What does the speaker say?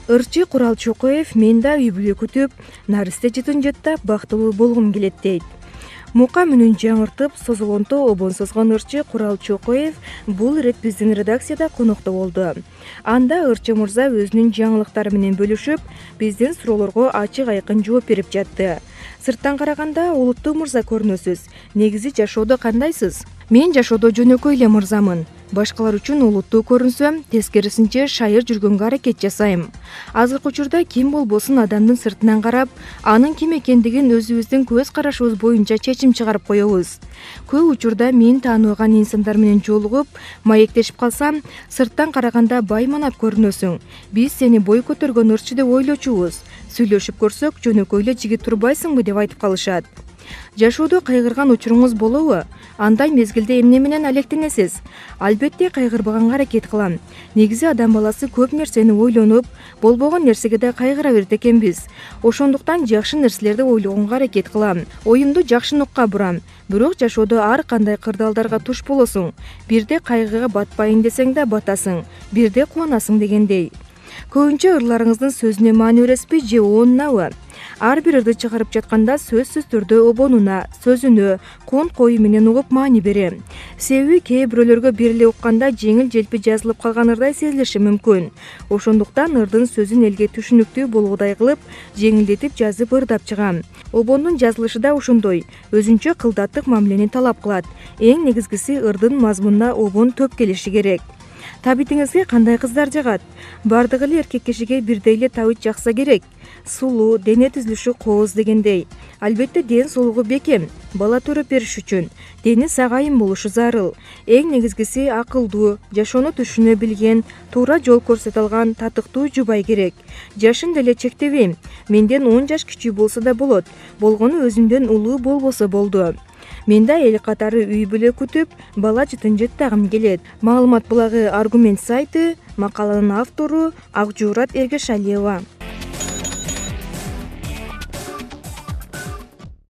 Ырчы Курал Чокоев мен да үй бүлө күтүп, наристе жытын жыттап бактылуу болгум келет дейт. Мука мүнүн жаңыртып, созулонто обон созгон ырчы Курал Чокоев бул ирет биздин редакцияда конокто болду. Анда ырчы мырза өзүнүн жаңылыктары менен бөлүшүп, биздин суроолорго ачык айкын жооп берип жатты. Сырттан караганда улуттуу мырза көрүнөсүз. Негизи жашоодо кандайсыз? Мен жашоодо жөнөкөй эле мырзамын. Башкалар үчүн улуттуу көрүнсөм, тескерисинче шайыр жүргөнгө аракет жасайм. Азыркы учурда ким болбосун адамдын сыртынан карап, анын ким экендигин өзүбүздүн көз карашыбыз боюнча чечим чыгарып коебуз. Көп учурда мен тааныбаган инсандар менен жолугуп, маектешип калсам, сырттан караганда байманап көрүнөсүң. Биз сени бой көтөргөн ырчы деп ойлочубуз. Сүйлөшүп көрсөк, жөнөкөй эле жигит турбайсыңбы деп айтып калышат. Жашоодо кайгырган учуруңуз болобу? Андай мезгилде эмне менен алектенесиз? Албетте кайгырбаганга аракет кылам. Негизи адам баласы көп нерсени ойлонуп, болбогон нерсеге да кайгыра берет экенбиз. Ошондуктан жакшы нерселерди ойлогонго аракет кылам. Оюмду жакшы нукка бурам. Бирок жашоодо ар кандай кырдаалдарга туш болосуң. Бирде кайгыга батпайын десең да батасың, бирде кубанасың дегендей. Көбүнчө ырларыңыздын сөзүнө маани бересизби же оонунабы? Ар бир ырды чыгарып жатканда сөзсүз түрдө обонуна, сөзүнө, кон-кою менен угуп маани берем. Себеби кээ бирөөлөргө бир эле укканда жеңил желпи жазылып калган ырдай сезилиши мүмкүн. Ошондуктан ырдын сөзүн элге түшүнүктүү болгудай кылып, жеңилдетип жазып ырдап чыгам. Обондун жазылышы да ошондой, өзүнчө кылдаттык мамилени талап кылат. Эң негизгиси ырдын мазмунуна обон төп келиши керек. Табитиңизге кандай кыздар жагат? Бардыгы эле эркек кишиге бирдей эле табыт жакса керек. Сулуу, дене түзүлүшү кооз дегендей. Албетте ден соолугу бекем, бала төрөп бериш үчүн дени сагайын болушу зарыл. Эң негизгиси акылдуу, жашоону түшүнө билген, туура жол көрсөтө алган татыктуу жубай керек. Жашын деле чектебейм. Менден 10 жаш кичүү болсо да болот. Болгону өзүмдөн улуу болбосо болду. Мен да эл катары үй бүлө күтүп, бала жытын жыттагым келет. Маалымат булагы Аргумент сайты, макаланын автору Акжуурат Эргешалиева.